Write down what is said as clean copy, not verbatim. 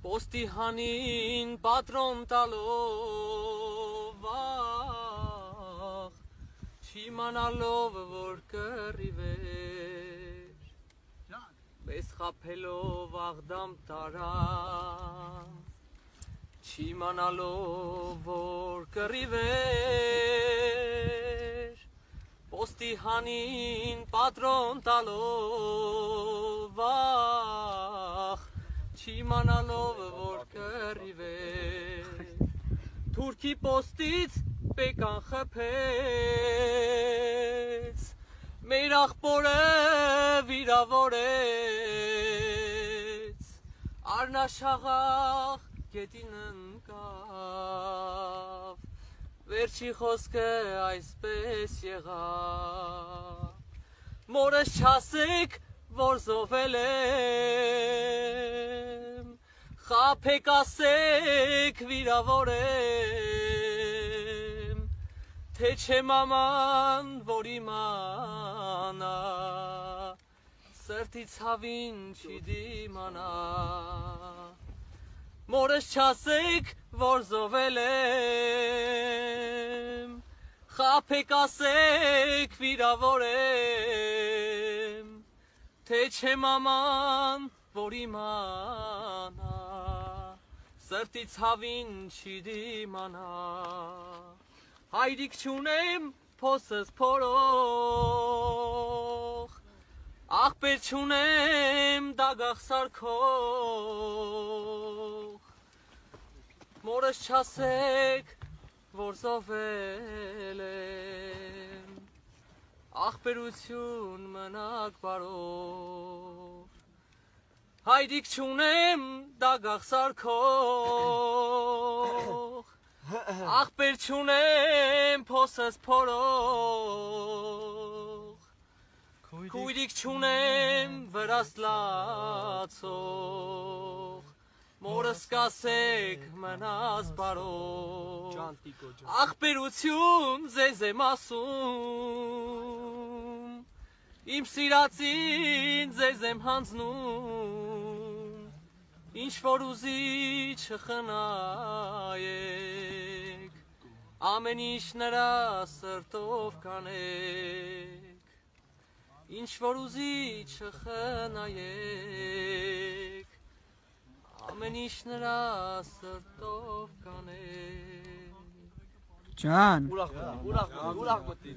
Պոստի հանին պատրոն տալով աղ չիմանալով որ կռիվեր մեզ խաբելով աղդամ տարան չիմանալով որ կռիվեր Պոստի հանին պատրոն տալով աղ Չիմանալով որ կռիվեր Թուրքի պոստից պեկան խփեց Մեր աղբորը վիրավորեց Արնաշաղախ գետին ընկավ Վերջի խոսքը այսպես եղավ Մորս չասեք որ զոհվել եմ Խաբեք ասեք վիրավոր եմ Թե չէ մաման որ իմանա Սրտի ցավին չի դիմանա Մորս չասեք որ զոհվել եմ Խաբեք ասեք վիրավոր եմ Թե չէ մաման, որ իմանա, սրտի ցավին չի դիմանա Հայրիկ չունեմ, փոսս փորող Աղբեր չունեմ, դագաղ սարքող Մորս չասեք, որ զոհվել եմ Աղբերություն մնաք բարով Հայրիկ չունեմ դագաղ սարքող Աղբեր չունեմ փոսս փորող Քույրիկ չունեմ վրաս լացող Մորս կասեք մնաս բարով Աղբերություն ձեզ եմ ասում Իմ սիրածին ձեզ եմ հանձնում Ինչ որ ուզի չխնայեք Ամեն ինչ նրա սրտով կանեք Ինչ որ ուզի չխնայեք Ամեն ինչ նրա սրտով կանեք Ջան Ուրախ մտի